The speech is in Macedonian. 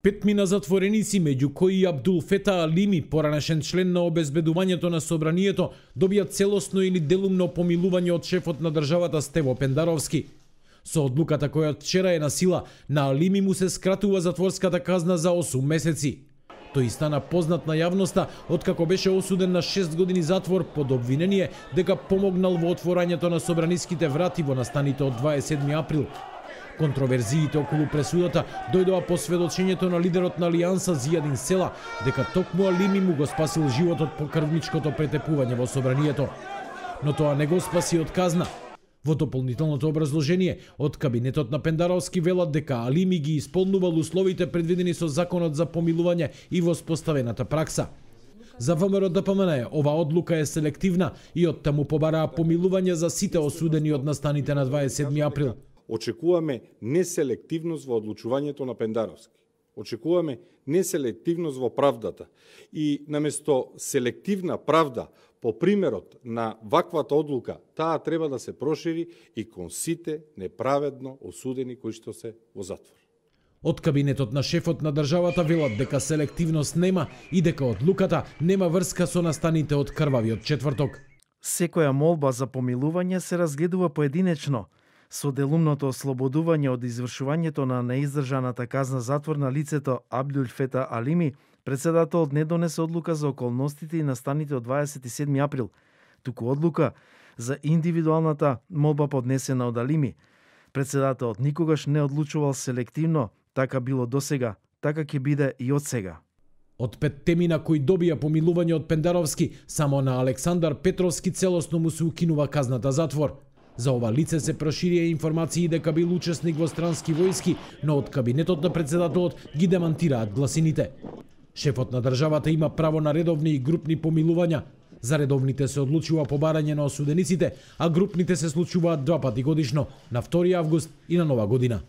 Петмина затвореници, меѓу кои и Абдул Фета Алими, поранешен член на обезбедувањето на собранието, добија целосно или делумно помилување од шефот на државата Стево Пендаровски. Со одлуката која вчера е на сила, на Алими му се скратува затворската казна за 8 месеци. Тој стана познат на јавноста откако беше осуден на 6 години затвор под обвинение дека помогнал во отворањето на собраниските врати во настаните од 27 април. Контроверзиите околу пресудата дојдоа по сведочењето на лидерот на Алијанса Зијадин Села дека токму Алими му го спасил животот по крвничкото претепување во собранието. Но тоа не го спаси од казна. Во дополнителното образложение од кабинетот на Пендаровски велат дека Алими ги исполнувал условите предвидени со законот за помилување и воспоставената пракса. За ВМРО ДПМН ова одлука е селективна и оттаму побараа помилување за сите осудени од настаните на 27 април. Очекуваме неселективност во одлучувањето на Пендаровски. Очекуваме неселективност во правдата. И наместо селективна правда, по примерот на ваквата одлука, таа треба да се прошири и кон сите неправедно осудени кои што се во затвор. Од кабинетот на шефот на државата велат дека селективност нема и дека одлуката нема врска со настаните од крвавиот четврток. Секоја молба за помилување се разгледува поединечно. Со делумното ослободување од извршувањето на неиздржаната казна затвор на лицето Абдул Фета Алими, председателот не донесе одлука за околностите и настаните од 27 април, туку одлука за индивидуалната молба поднесена од Алими. Председателот никогаш не одлучувал селективно, така било досега, така ќе биде и од сега. Од петтемина кои добија помилување од Пендаровски, само на Александар Петровски целосно му се укинува казната затвор. За ова лице се проширија информации дека бил учесник во странски војски, но од кабинетот на председателот ги демантираат гласините. Шефот на државата има право на редовни и групни помилувања. За редовните се одлучува побарање на осудениците, а групните се случуваат 2 пати годишно, на 2 август и на Нова година.